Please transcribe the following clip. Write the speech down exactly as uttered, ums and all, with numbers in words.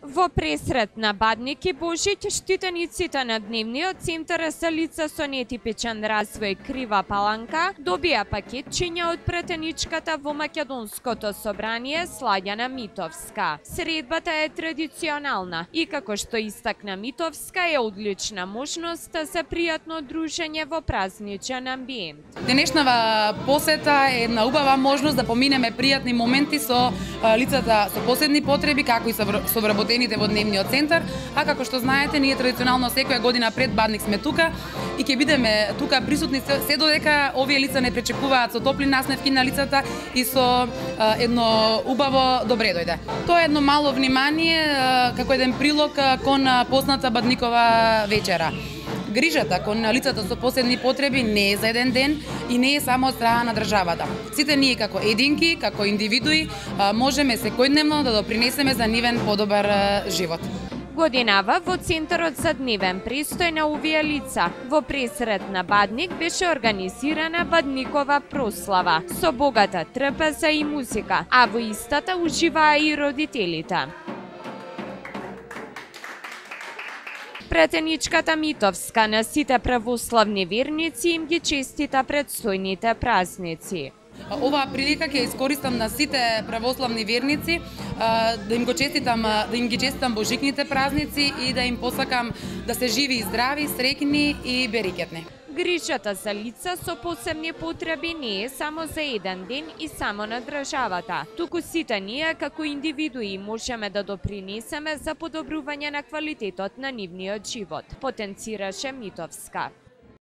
Во пресрет на Бадник и Божиќ, штитениците на Дневниот центар за лица со нетипичен развој Крива Паланка добија пакетчиња од претеничката во Македонското собрание Сладјана Митовска. Средбата е традиционална и, како што истакна Митовска, е одлична можност за пријатно дружење во празничен амбиент. Денешнава посета е една убава можност да поминеме пријатни моменти со лицата со посебни потреби, како и со вработените во Дневниот центар, а како што знаете, ние традиционално секоја година пред Бадник сме тука и ќе бидеме тука присутни се додека овие лица не пречекуваат со топли насневки на лицата и со а, едно убаво добре дојде. Тоа е едно мало внимание а, како еден прилог а, кон посната Бадникова вечера. Грижата кон лицата со посебни потреби не е за еден ден и не е само од страна на државата. Сите ние како единки, како индивидуи, можеме секојдневно да допринесеме за нивен подобар живот. Годинава во Центарот за дневен престој на овие лица во пресрет на Бадник беше организирана Бадникова прослава со богата трпеза и музика, а во истата уживаа и родителите. Претеничката Митовска на сите православни верници им ги честита предстојните празници. Оваа прилика ќе искористам на сите православни верници да им го честитам, да им ги честитам божикните празници и да им посакам да се живи и здрави, среќни и берекетни. Грижата за лица со посебни потреби не е само за еден ден и само на државата, туку сите ние како индивидуи можеме да допринесеме за подобрување на квалитетот на нивниот живот, потенцираше Митовска.